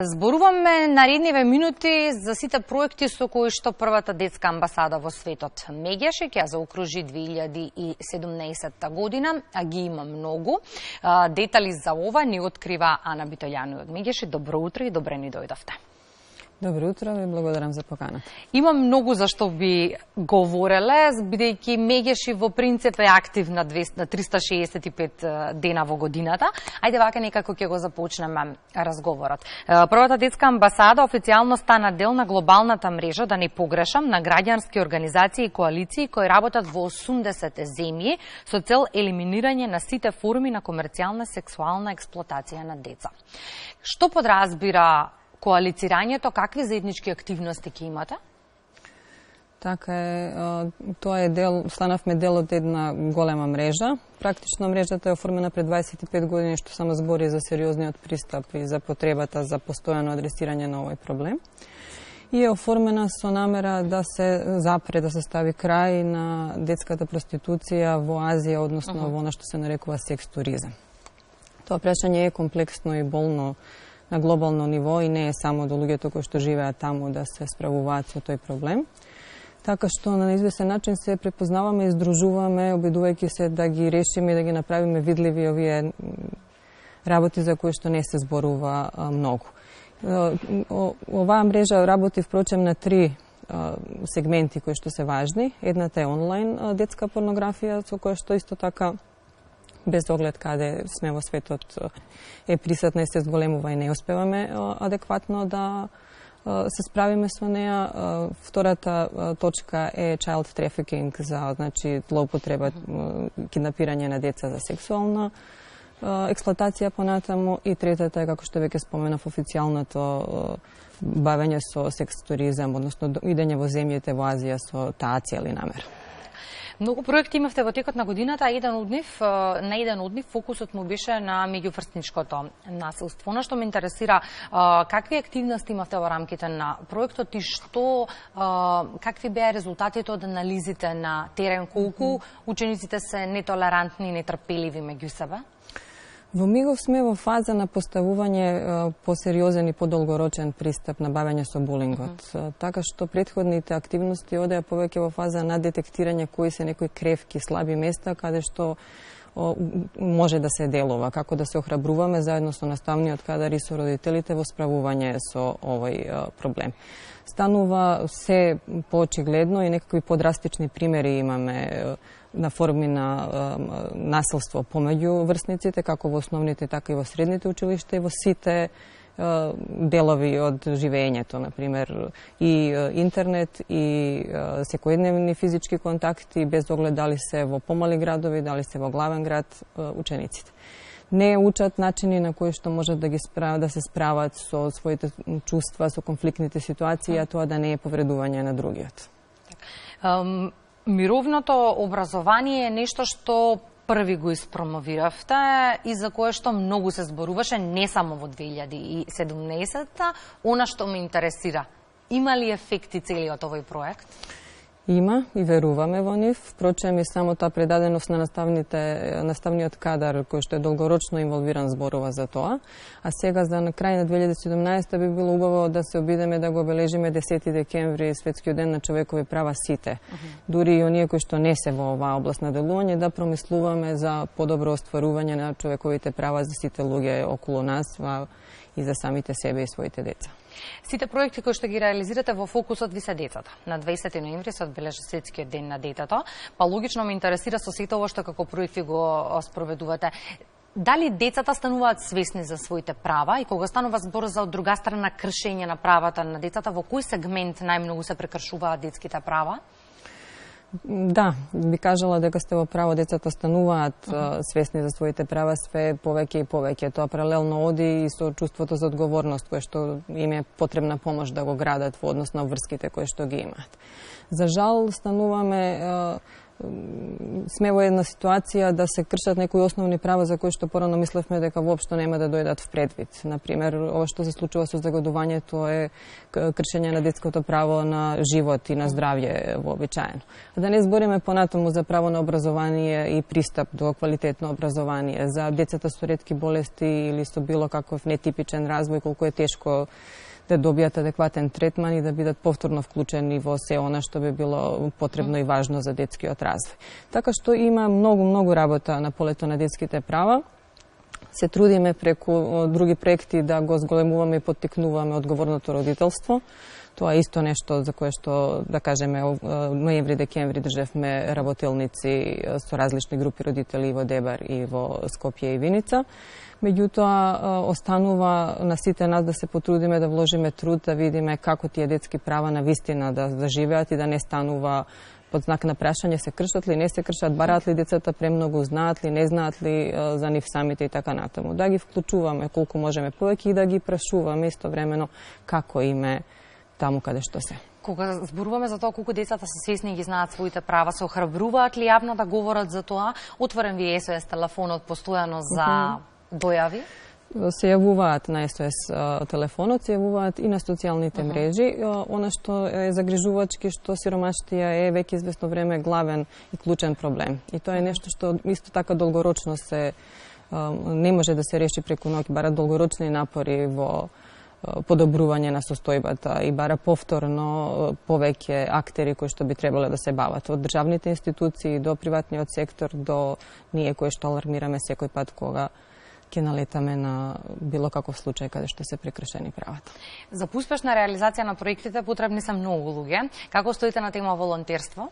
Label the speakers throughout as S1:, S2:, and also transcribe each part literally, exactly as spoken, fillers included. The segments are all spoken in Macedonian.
S1: Зборуваме наредниве минути за сите проекти со кои што првата детска амбасада во светот Мегеше ќе заокружи две илјади и седумнаесетта година, а ги има многу. Детали за ова ни открива Ана Битољану од Мегеше. Добро утро и добре ни дојдовте.
S2: Добро утро и благодарам за поканата.
S1: Има многу за што би говореле, бидејќи Мегеши во принцип е актив на триста шеесет и пет дена во годината. Ајде вака некако ќе го започнеме разговорот. Првата детска амбасада официјално стана дел на глобалната мрежа, да не погрешам, на граѓански организации и коалиции кои работат во осумдесет земји со цел елиминирање на сите форми на комерцијална сексуална експлоатација на деца. Што подразбира коалицирањето, какви заеднички активности ќе имате?
S2: Така е, тоа е дел, станавме дел од една голема мрежа. Практично мрежата е оформена пред дваесет и пет години, што само збори за сериозниот пристап и за потребата за постојано адресирање на овој проблем. И е оформена со намера да се запре, да се стави крај на детската проституција во Азија, односно uh -huh. во она што се нарекува секс туризам. Тоа прашање е комплексно и болно на глобално ниво и не е само до луѓето кои што живеат таму да се справуваат со тој проблем. Така што на известен начин се препознаваме и здружуваме, обидувајќи се да ги решиме и да ги направиме видливи овие работи за кои што не се зборува многу. Оваа мрежа работи впрочем на три сегменти кои што се важни. Едната е онлайн детска порнографија, со која што исто така без оглед каде сме во светот е присутна и се зголемува и не успеваме адекватно да се справиме со неа. Втората точка е child trafficking, за значи злоупотреба, киднапирање на деца за сексуална експлоатација понатаму, и третата е, како што веќе споменав, официјалното бавење со секс туризам, односно идење во земјите во Азија со таа цел и намера.
S1: Многу проекти имавте во текот на годината, а еден од нив, на еден од нив фокусот му беше на меѓуврстничкото насилство. Она што ме интересира, какви активности имавте во рамките на проектот и што, какви беа резултатите од анализите на терен, колку учениците се нетолерантни и нетрпеливи меѓу себе?
S2: Во Мигов сме во фаза на поставување посериозен и подолгорочен пристап на бавење со булингот. Mm -hmm. Така што претходните активности одеа повеќе во фаза на детектирање кои се некои кревки, слаби места, каде што о, може да се делува, како да се охрабруваме заедно со наставниот кадар и со родителите во справување со овој о, проблем. Станува се поочигледно и некакви подрастични примери имаме на форми на е, насилство помеѓу врсниците, како во основните, така и во средните училишта и во сите е, делови од живеењето, например, и е, интернет, и е, секојдневни физички контакти, без оглед дали се во помали градови, дали се во главен град, е, учениците не учат начини на кои што можат да ги справат, да се справат со своите чувства, со конфликтните ситуации, а тоа да не е повредување на другиот.
S1: Um... Мировното образование е нешто што први го испромовиравте и за кое што многу се зборуваше не само во две илјади и седумнаесетта. Она што ме интересира, има ли ефекти целиот овој проект?
S2: Има и веруваме во нив. Впрочем и самата предаденост на наставните, наставниот кадар кој што е долгорочно инволвиран зборува за тоа. А сега за на крај на две илјади и седумнаесетта би било убаво да се обидеме да го обележиме десети декември, светскиот ден на човекови права сите. Uh -huh. Дури и оние кои што не се во оваа област на делување, да промислуваме за подобро остварување на човековите права за сите луѓе околу нас и за самите себе и своите деца.
S1: Сите проекти кои што ги реализирате во фокусот ви се децата. На дваесети ноември се одбележа светскиот ден на детето, па логично ме интересира со сето ова што како проекти го спроведувате. Дали децата стануваат свесни за своите права и кога станува збор за од друга страна кршење на правата на децата, во кој сегмент најмногу се прекршуваат детските права?
S2: Да, би кажала дека сте во право, децата стануваат uh -huh. свесни за своите права све повеќе и повеќе. Тоа паралелно оди и со чувството за одговорност кое што им е потребна помош да го градат во однос на врските кои што ги имаат. За жал стануваме сме во една ситуација да се кршат некои основни права за кои што порано мислевме дека воопшто нема да дојдат в предвид. Например, ова што се случува со загадувањето е кршење на детското право на живот и на здравје вообичаено. Да не збориме понатаму за право на образование и пристап до квалитетно образование, за децата со ретки болести или со било каков нетипичен развој, колку е тешко да добијат адекватен третман и да бидат повторно вклучени во се она што би било потребно и важно за детскиот развој. Така што има многу, многу работа на полето на детските права. Се трудиме преку други проекти да го зголемуваме и поттикнуваме одговорното родителство. Тоа е исто нешто за кое што, да кажеме, ноември-декември држевме работелници со различни групи родители и во Дебар и во Скопје и Виница. Меѓутоа, останува на сите нас да се потрудиме да вложиме труд, да видиме како тие детски права на вистина да заживеат и да не станува под знак на прашање се кршат ли, не се кршат, бараат ли децата премногу, знаат ли, не знаат ли за нив самите и така натаму. Да ги вклучуваме колку можеме повеќе и да ги прашуваме истовремено како име таму каде што се.
S1: Кога зборуваме за тоа колку децата се свесни и ги знаат своите права, се охрабруваат ли јавно да говорат за тоа? Отворен ви е С О С телефонот постојано за mm -hmm. дојави?
S2: Се јавуваат на С О С телефонот, се јавуваат и на социјалните uh -huh. мрежи. Она што е загрижувачки, што сиромаштија е веќе известно време главен и клучен проблем. И тоа е нешто што исто така долгорочно се не може да се реши преку ноќ, бара долгорочни напори во подобрување на состојбата и бара повторно повеќе актери кои што би требале да се бават од државните институции до приватниот сектор до ние кои што алармираме секој пат кога ќе налетаме на било каков случај каде што се прекршени правата.
S1: За успешна реализација на проектите потребни се многу луѓе. Како стоите на тема волонтерство?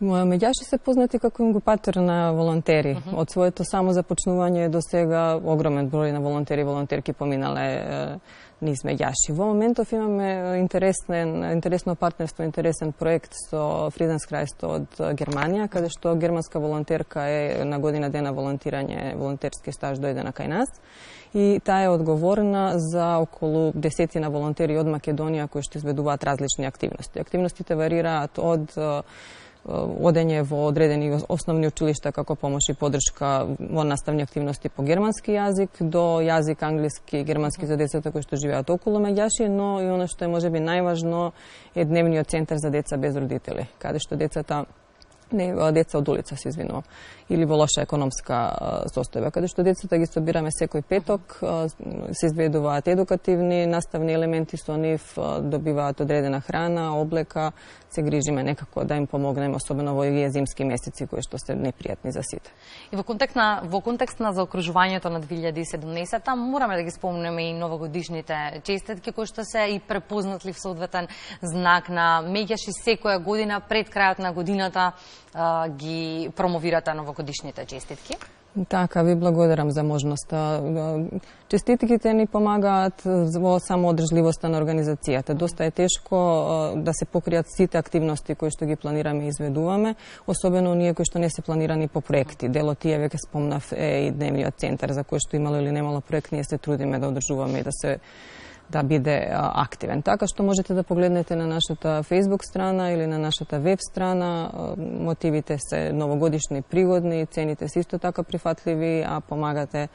S2: Меѓаши се познати како ингубатор на волонтери. Uh -huh. Од своето само започнување до сега огромен број на волонтери и волонтерки поминале низ Меѓаши. Во моментов имаме интересен, интересно партнерство, интересен проект со Фриденскрајсто од Германија, каде што германска волонтерка е на година дена волонтирање, волонтерски стаж дојдена кај нас. И таа е одговорна за околу десетина волонтери од Македонија кои што изведуваат различни активности. Активностите варираат од одење во одредени основни училишта како помош и подршка во наставни активности по германски јазик, до јазик англиски и германски за децата кои што живеат околу Меѓаши, но и она што е можеби најважно е дневниот центар за деца без родители, каде што децата не деца од улица се извинувам, или во лоша економска состојба, каде што децата ги собираме секој петок, се изведуваат едукативни наставни елементи со нив, добиваат одредена храна, облека, се грижиме некако да им помогнеме, особено во овие зимски месеци кои што се непријатни за сите.
S1: И во контекст на во контекст на заокружувањето на две илјади и седумнаесетта мораме да ги спомнеме и новогодишните честитки кои што се и препознатлив соодветен знак на Меѓаши секоја година пред крајот на годината ги промовирате новогодишните честитки.
S2: Така, ви благодарам за можноста. Честитките ни помагаат во самоодржливоста на организацијата. Доста е тешко да се покријат сите активности кои што ги планираме и изведуваме, особено оние кои што не се планирани по проекти. Дел од тие веќе спомнав е и дневниот центар за кој што имало или немало проект, ние се трудиме да одржуваме и да се да биде активен. Така што можете да погледнете на нашата Facebook страна или на нашата веб страна. Мотивите се новогодишни, пригодни, цените се исто така прифатливи, а помагате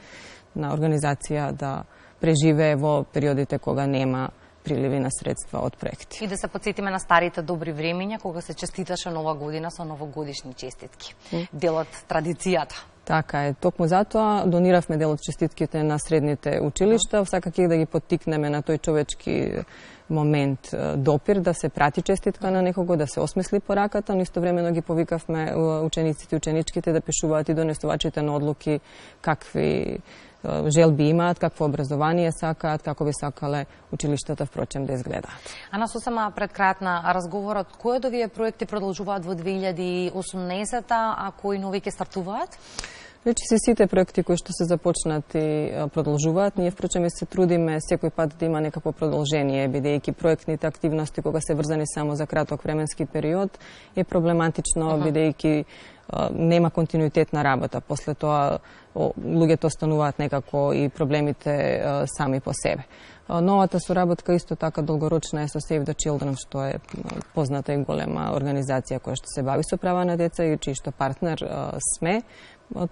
S2: на организација да преживее во периодите кога нема приливи на средства од проекти.
S1: И да се подсетиме на старите добри времења кога се честиташе нова година со новогодишни честитки. Mm. Дел од традицијата.
S2: Така е. Токму затоа дониравме дел од честитките на средните училишта, сакајќи да ги поттикнеме на тој човечки момент допир, да се прати честитка на некого, да се осмисли пораката, но истовремено ги повикавме учениците и ученичките да пишуваат и донесувачите на одлуки какви желби имаат, какво образование сакаат, како би сакале училиштата впрочем да изгледаат.
S1: Ана, сосема пред крајот на разговорот, кои од овие проекти продолжуваат во две илјади и осумнаесетта, а кои нови ќе стартуваат?
S2: Вече се сите проекти кои што се започнати продолжуваат. Ние впрочем се трудиме секој пат да има некакво продолжение, бидејќи проектните активности кога се врзани само за краток временски период е проблематично, uh -huh. бидејќи нема континуитет на работа. После тоа луѓето остануваат некако и проблемите сами по себе. Новата соработка исто така долгорочна е со Save the Children, што е позната и голема организација која што се бави со права на деца и чиј што партнер сме,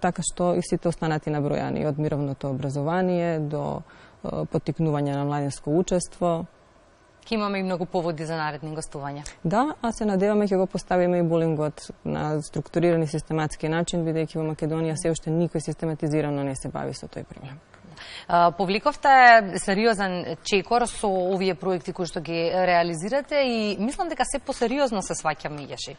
S2: така што и сите останати набројани, од мировното образование до поттикнување на младинско учество.
S1: Ке имаме и многу поводи за наредни гостувања.
S2: Да, а се надеваме ќе го поставиме и булингот на структуриран и систематски начин, бидејќи во Македонија се уште никој систематизирано не се бави со тој проблем.
S1: Повликовте сериозен чекор со овие проекти кои што ги реализирате и мислам дека се посериозно се сваќа меѓаши.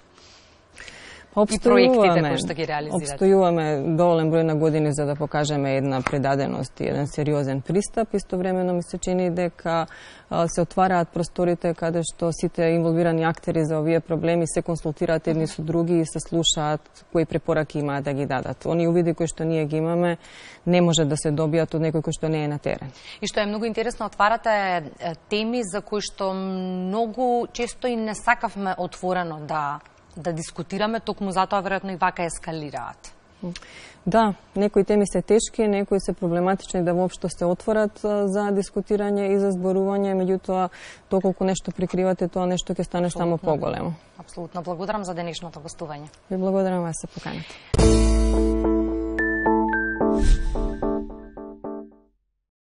S1: И проектите кои што ги реализирате.
S2: Обстојуваме доволен број на години за да покажеме една предаденост и еден сериозен пристап. Истовремено ми се чини дека се отвараат просторите каде што сите инволвирани актери за овие проблеми се консултираат едни со други и се слушаат кои препораки имаат да ги дадат. Они увиди кои што ние ги имаме не може да се добијат од некој кој што не е на терен.
S1: И што е многу интересно, отварате теми за кои што многу често и не сакавме отворено да да дискутираме, токму затоа веројатно и вака ескалираат.
S2: Да, некои теми се тешки, некои се проблематични да воопшто се отворат за дискутирање и за зборување, меѓутоа доколку нешто прикривате, тоа нешто ќе стане само поголемо.
S1: Апсолутно. Благодарам за денешното гостување.
S2: Ви благодарам вас се поканите.